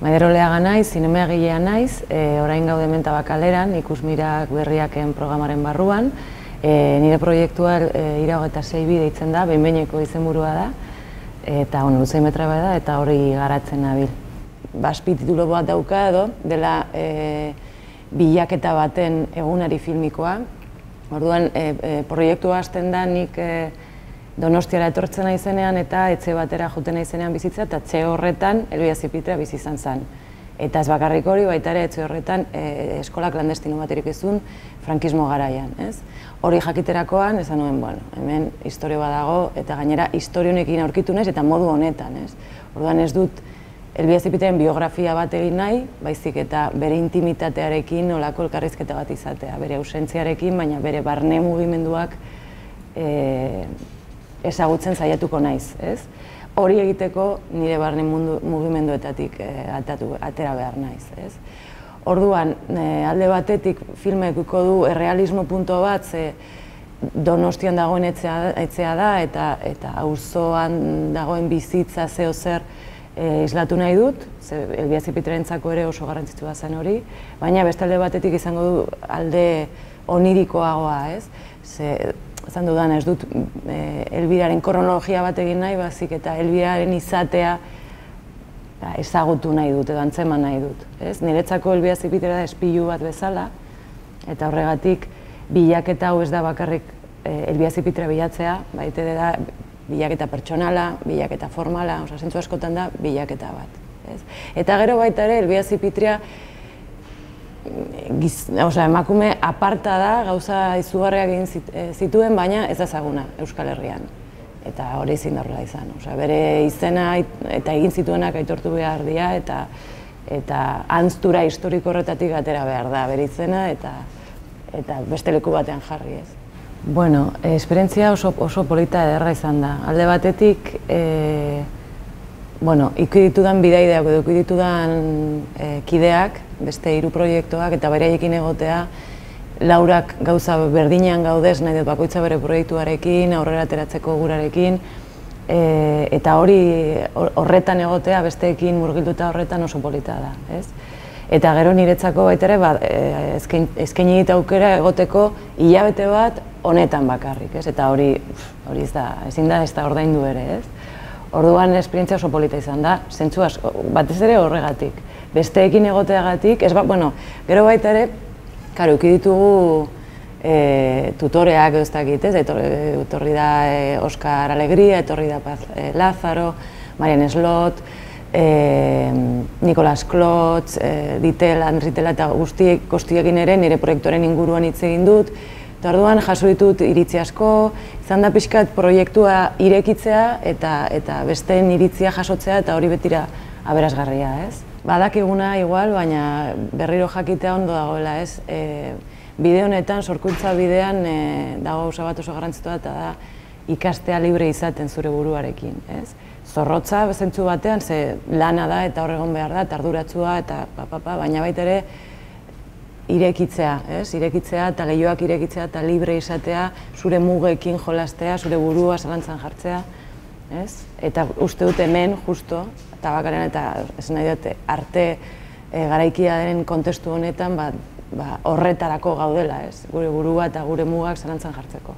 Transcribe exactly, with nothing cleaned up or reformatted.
Maider Oleaga naiz, zinemagilea naiz, e, orain gaude hemen Tabakaleran, ikusmirak berriaken programaren barruan. E, nire proiektua e, iragoeta sei bi deitzen da, behin-behineko izenburua da, eta bueno, luze metra da, eta hori garatzen nabil. Baspi titulo bat dauka edo, dela e, bilaketa baten egunari filmikoa. Orduan, e, e, proiektua hasten da nik e, Donostiara etortzen naizenean eta etxe batera joten naizenean bizitza, eta etxe horretan Elbia Zipitrea bizi izan zen. Eta ez bakarrik hori, baita ere etxe horretan e, eskola klandestino baterik izun frankismo garaian. Ez? Hori jakiterakoan, esan nuen, bueno, hemen historio bat dago, eta gainera historio honekin aurkitu naiz eta modu honetan. Ez? Orduan ez dut Elbia Zipitrearen biografia bat egin nahi, baizik eta bere intimitatearekin nolako elkarrizketa bat izatea, bere ausentziarekin, baina bere barne mugimenduak e, ezagutzen saiatuko naiz, ez? Hori egiteko nire barne mundu, mugimenduetatik e, atatu, atera behar naiz, ez? Orduan, e, alde batetik filmekuko du errealismo punto bat, ze Donostian dagoen etxea, etxea da, eta eta auzoan dagoen bizitza zeo zer e, islatu nahi dut, ze Elbia Zipitrearentzako ere oso garrantzitsua zen hori, baina beste alde batetik izango du alde onirikoagoa, ez? Ze, Zan dudan, ez dut e, Elbiraren kronologia bat egin nahi, bazik eta Elbiraren izatea ba, ezagutu nahi dut, edo antzeman nahi dut. Ez? Niretzako Elbia Zipitrea da espilu bat bezala, eta horregatik bilaketa hau ez da bakarrik e, Elbia Zipitrea bilatzea, baita da bilaketa pertsonala, bilaketa formala, oza, zentzu askotan da bilaketa bat. Ez? Eta gero baita ere Elbia Zipitrea Giz, oza, emakume aparta da, gauza izugarriak egin zituen, baina ez ezaguna Euskal Herrian. Eta hori ezin da horrela izan. Oza, bere izena eta egin zituenak aitortu behar dira, eta, eta antztura historiko horretatik atera behar da bere izena, eta, eta beste leku batean jarri ez. Bueno, esperientzia oso, oso polita ederra izan da. Alde batetik, e, bueno, ikusi ditudan bidaideak edo ikusi ditudan e, kideak, beste hiru proiektuak eta beraiekin egotea, laurak gauza berdinean gaudez, nahi dut bakoitza bere proiektuarekin, aurrera ateratzeko gurarekin, e, eta hori horretan egotea, besteekin murgilduta horretan oso polita da. Ez? Eta gero niretzako baita ere, ba, eskaini dit aukera egoteko hilabete bat honetan bakarrik, ez? Eta hori, hori ez da, ezin da ez da ordaindu ere, ez? Orduan esperientzia oso polita izan da, zentzu asko, batez ere horregatik. Besteekin egoteagatik, ez ba, bueno, gero baita ere, karo, uki ditugu e, tutoreak ez dakit, ez? Etorri da e, Oskar Alegria, etorri da Paz e, Lázaro, Marian Slot, e, Nikolas Klotz, e, Ditela, Ritela eta guztiek, guztiekin ere nire proiektuaren inguruan hitz egin dut. Eta orduan jaso ditut iritzi asko, izan da pixkat proiektua irekitzea eta, eta besteen iritzia jasotzea eta hori betira aberasgarria, ez? Badakiguna igual, baina berriro jakitea ondo dagoela, ez? E, bide honetan, sorkuntza bidean e, dago gauza bat oso garrantzitua eta da ikastea libre izaten zure buruarekin, ez? Zorrotza zentzu batean, ze lana da eta horregon behar da, eta arduratsua eta papapa, baina baita ere irekitzea, ez? Irekitzea eta lehioak irekitzea eta libre izatea, zure mugekin jolastea, zure burua zalantzan jartzea, ez? Eta uste dut hemen, justo, Tabakaleran eta esan nahi dut arte e, garaikiaren kontestu honetan ba, ba, horretarako gaudela, ez? Gure burua eta gure mugak zalantzan jartzeko.